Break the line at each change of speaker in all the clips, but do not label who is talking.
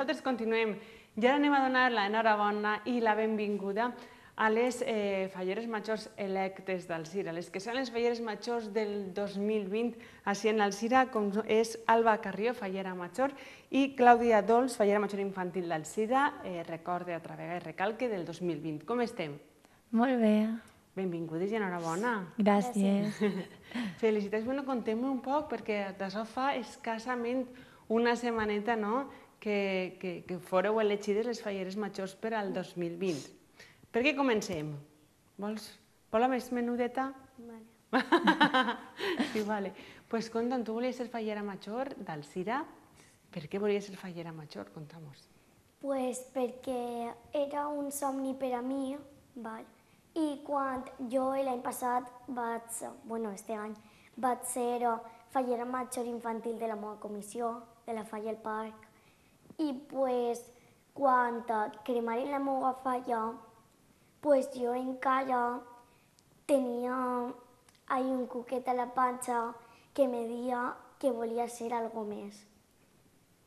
nosaltres continuem. I ara anem a donar l'enhorabona i la benvinguda a les falleres majors electes d'Alzira, les que són les falleres majors del 2020 així en Alzira, com és Alba Carrió, fallera major, i Clàudia Dols, fallera major infantil d'Alzira, recorde altra vegada i recalque del 2020. Com estem?
Molt bé.
Benvingudes i enhorabona.
Gràcies.
Felicitats. Bueno, contem-me un poc, perquè d'això fa escassament una setmaneta, no?, que fóreu elegides les falleres majors per al 2020. Per què comencem? Vols la més menudeta?
Vale.
Sí, vale. Doncs conta'm, tu volies ser fallera major d'Alzira. Per què volies ser fallera major? Conta'm-ho.
Pues perquè era un somni per a mi, val? I quan jo l'any passat este any, vaig ser fallera major infantil de la meva comissió, de la Falla al Parc, i pues quan cremaren la meva falla, pues jo encara tenia un cuquet a la panxa que me deia que volia ser algo més.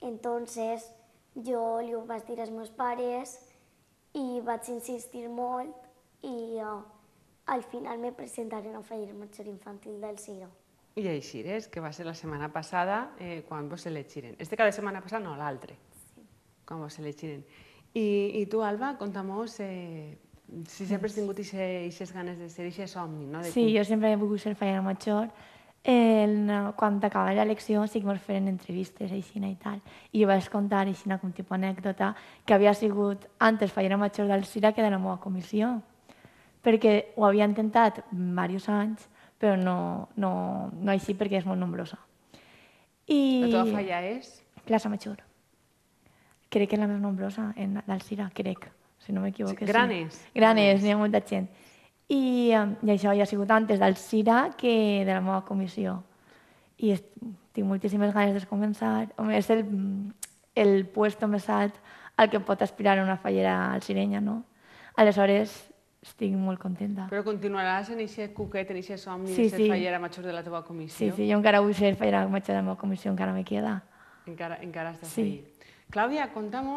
Entonces jo li ho vaig dir als meus pares i vaig insistir molt i al final me presentaré a fallera major infantil d'Alzira.
I així és, que va ser la setmana passada quan vos elegiren. Este cada setmana passada, no, l'altre.
Sí.
Quan vos elegiren. I tu, Alba, conta'm-nos si sempre has tingut aquestes ganes de ser, aquest somni, no?
Sí, jo sempre he volgut ser fallera major. Quan acabava l'elecció sí que ens feien entrevistes així i tal. I jo vaig contar així com tipus anècdota que havia sigut antes fallera major d'Alzira que de la meva comissió. Perquè ho havia intentat diversos anys, però no així perquè és molt nombrosa.
La teva falla és?
Plaça Major. Crec que és la més nombrosa d'Alzira, crec, si no m'equivoco.
Granes?
Granes, n'hi ha molta gent. I això ja ha sigut antes d'Alzira que de la meva comissió. I tinc moltíssimes ganes de començar. És el puesto més alt al que pot aspirar una fallera alzirenya, no? Aleshores, estic molt contenta.
Però continuaràs en aquest cuquet, en aquest somni
Sí,
de ser
sí.
fallera major de la teva comissió?
Sí, jo encara vull ser fallera major de la meva comissió, encara me queda.
Encara estàs
Sí.
ahí. Clàudia, conta'm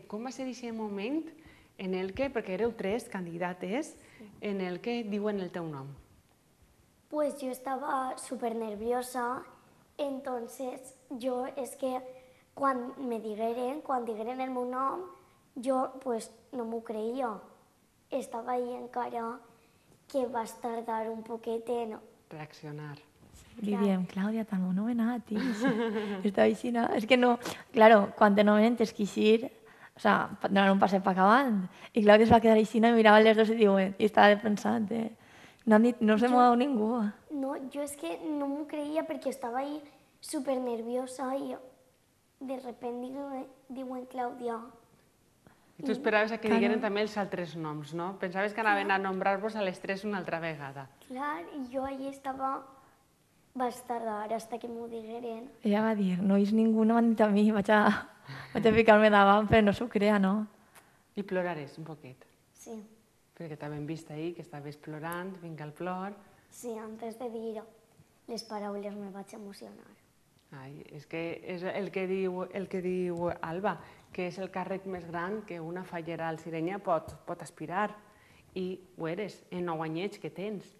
com va ser aquest moment en el que, perquè éreu 3 candidates, en el que diuen el teu nom.
Pues yo estaba súper nerviosa, entonces yo es que quan digueren el meu nom, jo pues no m'ho creia. Estava ahí encara que vas tardar un poquet en
Reaccionar.
Li diem, Clàudia, t'han nomenat, tio. Estava així, no? És que no... Claro, quan te nomenen tens que eixir, o sea, donar un passet per acabant. I Clàudia es va quedar així, i mirava les dos i estava pensant, no se mou ningú.
No, jo és que no m'ho creia perquè estava ahí súper nerviosa i de repente diuen Clàudia.
I tu esperaves que digueren també els altres noms, no? Pensaves que anaven a nombrar-vos a les 3 una altra vegada.
Clar, i jo allà estava... Vas tardar hasta que m'ho digueren.
Ella va dir, no és ningú, no m'han dit a mi, vaig a ficar-me davant, però no s'ho crea, no?
I plorares un poquet.
Sí.
Perquè t'havem vist ahir, que estaves plorant, vinga el plor.
Sí, antes de dir les paraules me vaig emocionar.
Ai, és que és el que diu Alba, que és el càrrec més gran que una fallera alzirenya pot aspirar. I ho eres, en 9 anyets que tens.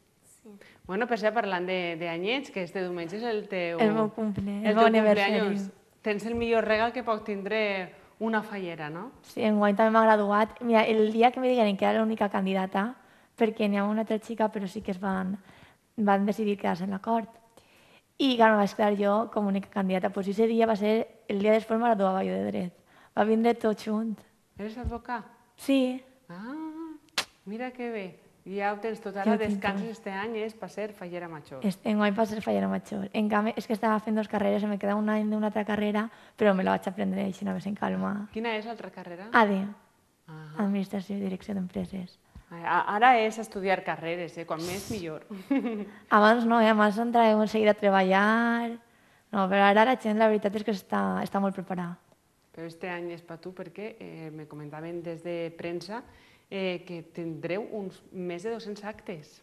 Sí.
Bueno, per ser parlant d'anyets, que este diumenge és el teu...
El meu aniversari.
Tens el millor regal que pot tindre una fallera, no?
Sí, enguany també m'ha graduat. Mira, el dia que me digueren que era l'única candidata, perquè n'hi ha una altra xica, però sí que van decidir quedar-se en l'acord. I clar, vaig quedar jo com a única candidata. Pues ese dia va ser el dia després me graduava jo de dret. Va vindre tot junt.
Eres advocat?
Sí.
Ah, mira que bé. Ja ho tens tot. Ara descanses este any és per ser fallera major.
Enguany per ser fallera major. En canvi, és que estava fent 2 carreres, me queda un any d'una altra carrera, però me la vaig aprendre així, no més en calma.
Quina és l'altra carrera?
AD, Administració i Direcció d'Empreses.
Ara és estudiar carreres, quan més millor.
Abans no, abans entràvem en seguida a treballar... No, però ara la gent, la veritat és que està molt preparada.
Però este any és per tu perquè me comentaven des de premsa que tindreu uns més de 200 actes.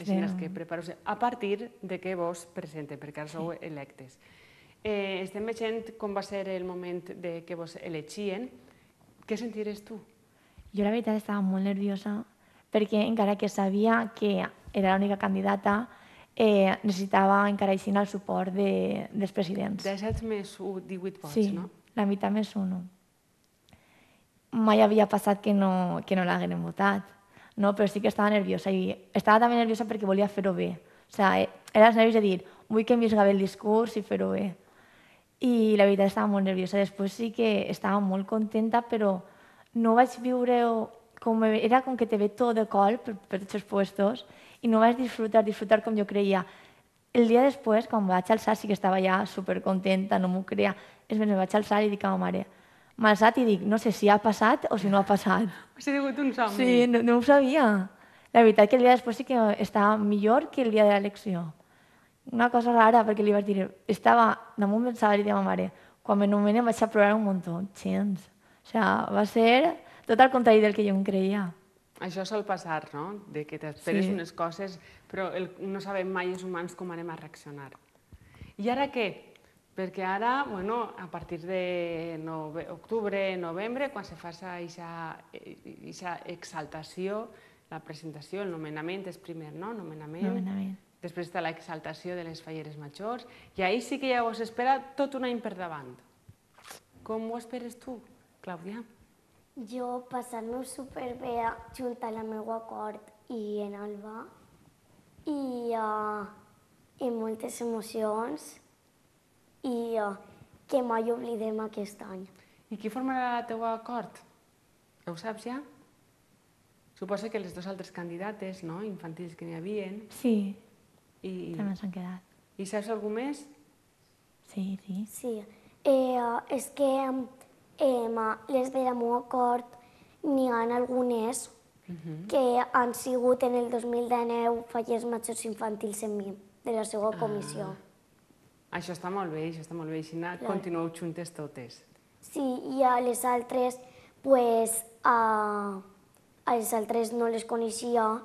Així que prepareu-se a partir de que vos presenten, perquè ara sou electes. Estem veient com va ser el moment que vos elegien. Què sentiràs tu?
Jo la veritat estava molt nerviosa perquè encara que sabia que era l'única candidata, necessitava encara així el suport dels presidents.
17 més 1, 18 vots,
Sí,
no?
la meitat més 1. Mai havia passat que no l'hagueren votat, no? Però sí que estava nerviosa i estava també nerviosa perquè volia fer-ho bé. O sigui, era els nervis de dir, vull que em visca bé el discurs i fer-ho bé. I la veritat estava molt nerviosa. Després sí que estava molt contenta, però no vaig viure era com que te ve tot de colp per tots els puestos i no vaig disfrutar com jo creia. El dia després, quan vaig alçar, sí que estava ja supercontenta, no m'ho creia. És més, me vaig alçar i dic a ma mare, m'ha alçat i dic, no sé si ha passat o si no ha passat.
Ha sigut un somni.
Sí, no ho sabia. La veritat que el dia després sí que estava millor que el dia de l'elecció. Una cosa rara, perquè li vaig dir, estava damunt del salari de ma mare. Quan me nomenen vaig a plorar un muntó, gens. O sigui, va ser tot el contrari del que jo em creia.
Això sol passar, no? De que t'esperes
Sí.
unes coses, però no sabem mai els humans com anem a reaccionar. I ara què? Perquè ara, bueno, a partir de octubre, novembre, quan se fa aquesta exaltació, la presentació, el nomenament és primer, no?
Nomenament.
Després està l'exaltació de les falleres majors, i ahir sí que ja us espera tot un any per davant. Com ho esperes tu, Clàudia?
Jo passar-me superbé junt a la meva cort i en Alba i moltes emocions i que mai oblidem aquest any.
I qui formarà la teua cort? Ho saps ja? Suposo que les dues altres candidates, no?, infantils que n'hi havien.
Sí,
I
també s'han quedat.
saps algú més?
Sí.
Sí, és que les de la meva cort n'hi ha algunes que han sigut en el 2019 fallers majors infantils en mi, de la seva comissió.
Això està molt bé, Així continueu juntes totes.
Sí, i a les altres, pues, a les altres no les coneixia,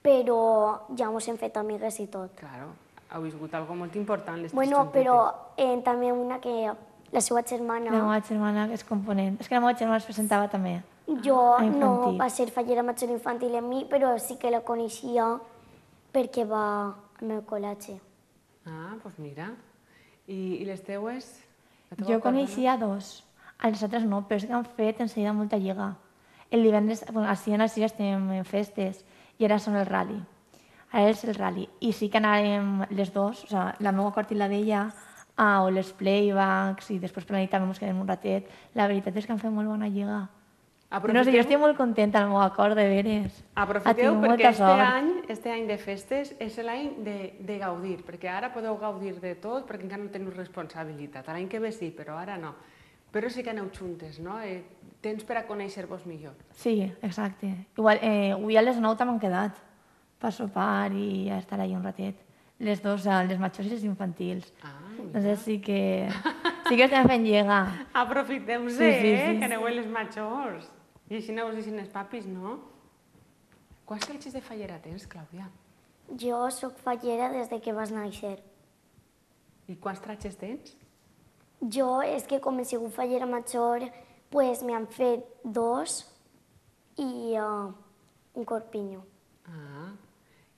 però ja mos hem fet amigues i tot.
Claro, heu viscut algo molt important, les tres
Bueno,
juntetes.
però també una que la seva germana,
La meva germana és component. És que la meva germana es presentava també.
jo
a
no
infantil.
va ser fallera major infantil en mi, però sí que la coneixia perquè va al meu col·legi.
Ah, doncs mira. I les teues? La teua
Jo
cort,
coneixia dos, a les altres no, però és que han fet en seguida molta lliga. El divendres, bueno, així en el Cira estem en festes i ara són el rally. Ara és el rally. I sí que anàrem les dos, o sigui, la meva cort i la d'ella, a les playbacks i després per la nit també ens quedem un ratet. La veritat és que han fet molt bona lliga. No sé, jo estic molt contenta amb el meu acord, de veres.
Aprofiteu
tingut
perquè
molta sort.
este any de festes és l'any de gaudir, perquè ara podeu gaudir de tot perquè encara no teniu responsabilitat. L'any que ve sí, però ara no. Però sí que aneu juntes, no? Temps per a conèixer-vos millor.
Sí, exacte. Igual, avui a les 9 també han quedat per sopar i a estar allà un ratet. Les dues, les majors i les infantils. Doncs sí que estem fent lliga.
Aprofiteu-se,
Sí.
que aneu a les majors. I així no us deixin els papis, no? Quants tratges de fallera tens, Clàudia?
Jo sóc fallera des de que vas néixer.
I quants tratges tens?
Jo, és que com he sigut fallera major, pues m'han fet 2 i un corpinyo.
Ah,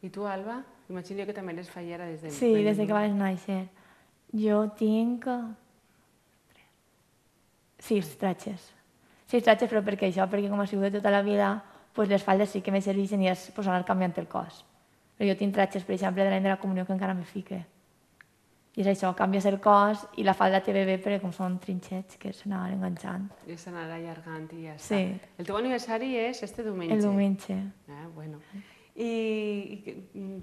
i tu, Alba? Imagino que també eres fallera des de...
Sí, des de que vas néixer. Jo tinc 6 tratges. 6 tratges, però per què això? Perquè com ha sigut de tota la vida, pues les faldes sí que me serveixen i és pues, anar canviant el cos. Però jo tinc tratges, per exemple, de l'any de la comunió que encara me fique. I és això, canvies el cos i la falda te ve bé perquè com són trinxets que s'anaven enganxant.
I s'anarà allargant i ja està.
Sí.
El teu aniversari és este diumenge.
El diumenge.
Bueno. I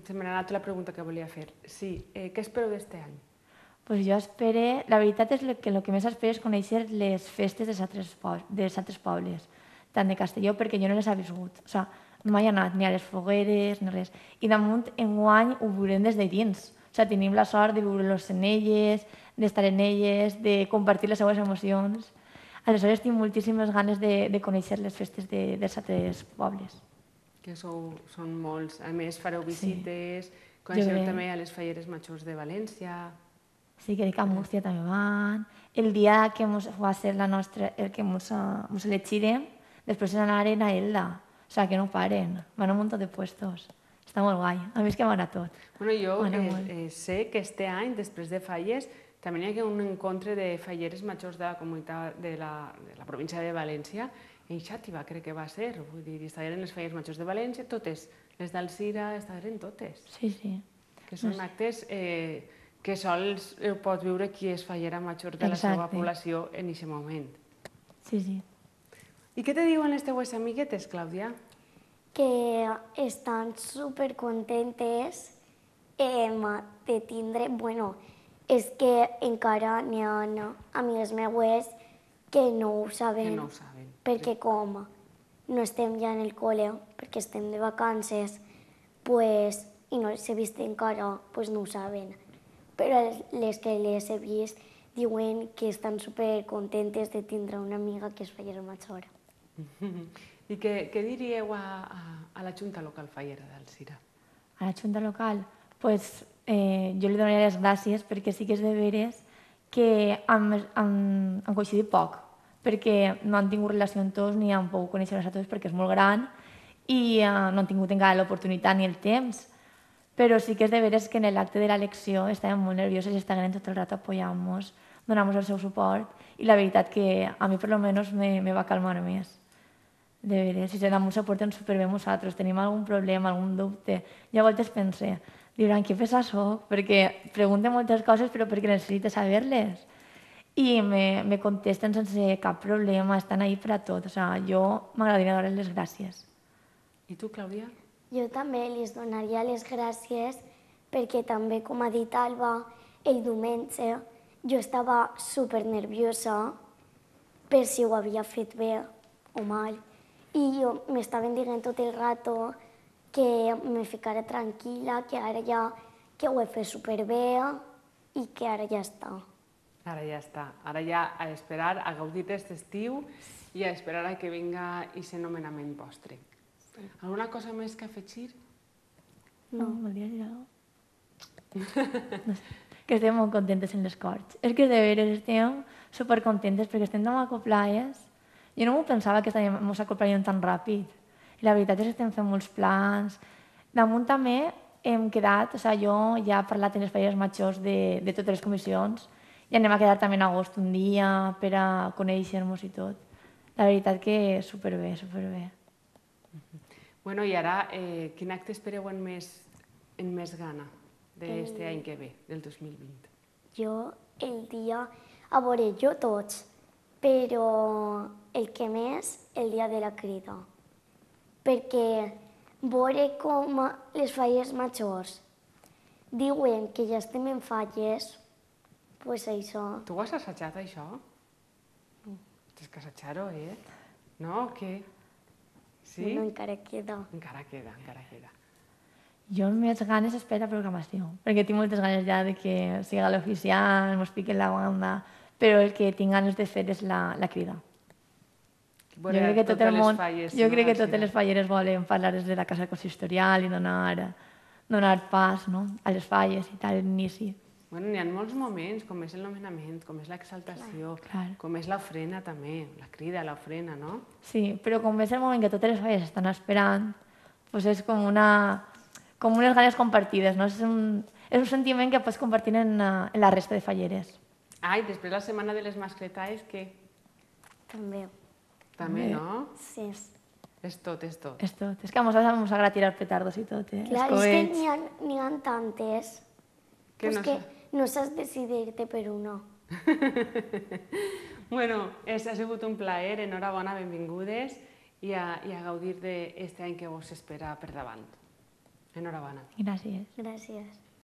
se m'ha anat la pregunta que volia fer. Sí, què espereu d'este any?
Pues jo espero... La veritat és que el que més espero és conèixer les festes dels altres pobles, tant de Castelló, perquè jo no les he viscut. O sigui, no he anat ni a les fogueres ni res. I damunt, enguany, ho veurem des de dins. O sigui, tenim la sort de viure-los en elles, d'estar en elles, de compartir les seues emocions. Aleshores, tinc moltíssimes ganes de conèixer les festes dels altres pobles.
Que són molts. A més, fareu visites, coneixeu també a les falleres majors de València.
Sí, crec que a Múrcia també van. El dia que va ser el que mos elegirem, després anaren a Elda. O sigui, que no paren. Van a un munt de puestos. Està molt guai. A mi és que m'agrada tot.
Bueno, jo sé que este any, després de Falles, també hi ha un encontre de falleres majors de la comunitat de la província de València, en Xàtiva crec que va ser, vull dir, estaven les falleres majors de València, totes, les d'Alzira, estaven totes.
Sí, sí.
Que són actes que sols pot viure qui és fallera major de la seva població en aquest moment.
Sí, sí.
I què te diuen les teues amiguetes, Clàudia?
Que estan supercontentes de tindre... Bueno, és que encara n'hi ha amigues meues que no ho saben.
Que no ho saben.
Perquè com no estem ja en el col·le, perquè estem de vacances, pues, i no les he vist encara, pues no ho saben. Però les que les he vist diuen que estan supercontentes de tindre una amiga que és fallera major.
I què diríeu a la Junta Local Fallera d'Alzira?
A la Junta Local? Pues jo li donaria les gràcies perquè sí que és de veres que han coincidit poc, perquè no han tingut relació amb tots ni han pogut conèixer-les a tots perquè és molt gran i no han tingut encara l'oportunitat ni el temps. Però sí que és de veres que en l'acte de l'elecció estàvem molt nervioses i estaven tot el rato apoyant-nos, donant-nos el seu suport i la veritat que a mi per almenys me va calmar més. De veres, si se damunt se porten superbé amb nosaltres, tenim algun problema, algun dubte. Jo a voltes pense, diran, que pesa soc? Perquè pregunten moltes coses però perquè necessite saber-les. I me contesten sense cap problema, estan ahí per a tot. O sigui, jo m'agradaria donar les gràcies.
I tu, Clàudia?
Jo també les donaria les gràcies perquè també, com ha dit Alba, el diumenge jo estava supernerviosa per si ho havia fet bé o mal. I m'estaven dient tot el rato que me ficara tranquil·la, que ara ja que ho he fet superbé i que ara ja està.
Ara ja està. Ara ja a esperar, a gaudir d'aquest estiu i a esperar a que vinga aquest nomenament vostre. Alguna cosa més que afegir?
No, volia dir alguna cosa. Que estem molt contentes en les Corts. És que de veres estem supercontentes perquè estem tan acoplades. Jo no m'ho pensava que ens acoplaríem tan ràpid. I la veritat és que estem fent molts plans. Damunt també hem quedat, o sigui, jo ja he parlat amb les falleres majors de totes les comissions i anem a quedar també en agost un dia per a conèixer-nos i tot. La veritat que superbé, superbé.
Bueno, i ara, quin acte espereu amb més gana d'aquest any que ve, del 2020?
Jo el dia, a veure, jo tots, però el que més, el dia de la crida. Perquè veure com les falles majors diuen que ja estem en falles, doncs això.
Tu ho has assajat, això? Tens que assajar-ho, No, o què? Sí?
No, encara queda.
Encara queda, encara queda.
Jo amb més ganes espero la programació, perquè tinc moltes ganes ja de que sigui l'oficial, mos piquen la banda, però el que tinc ganes de fer és la crida. Jo crec que tot el món, jo crec que totes les falleres volen parlar des de la casa consistorial i donar pas a les falles i tal, l'inici.
Bueno, n'hi ha molts moments, com és el nomenament, com és l'exaltació, com és l'ofrena també, la crida, l'ofrena, no?
Sí, però com és el moment que totes les falles estan esperant, doncs és com unes ganes compartides, no? És un sentiment que pots compartir en la resta de falleres.
Ah, i després la setmana de les mascletaes, què?
També.
També, no?
Sí.
És tot, és tot.
És tot. És que a nosaltres ens agrada tirar petardos i tot,
Clar, és que n'hi ha tantes.
Que
no saps decidir-te per una.
Bueno, ha sigut un plaer, enhorabona, benvingudes i a gaudir d'aquest any que vos espera per davant. Enhorabona.
Gràcies.
Gràcies.